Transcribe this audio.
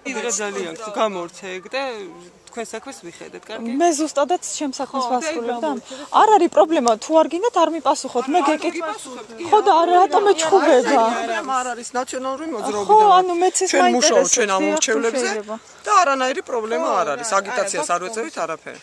იდეა ძალიან გამორჩეგ და თქვენ საქმეს ვიხედეთ, კარგი? მე ზუსტადაც ჩემ საქმეს ვასრულებ და არ არის პრობლემა, თუ არ გინდათ არ მიპასუხოთ, მე გეკითხავ. ხო და რატომ ეჩხუბება? არ არის ნაციონალური მოძრაობა. ხო, ანუ მეც ეს ჩვენ მუშაობთ მაინტერესებს. ჩვენ ამორჩევლებზე და არანაირი პრობლემა არ არის. აგიტაციას არ ვეწევით არაფერი.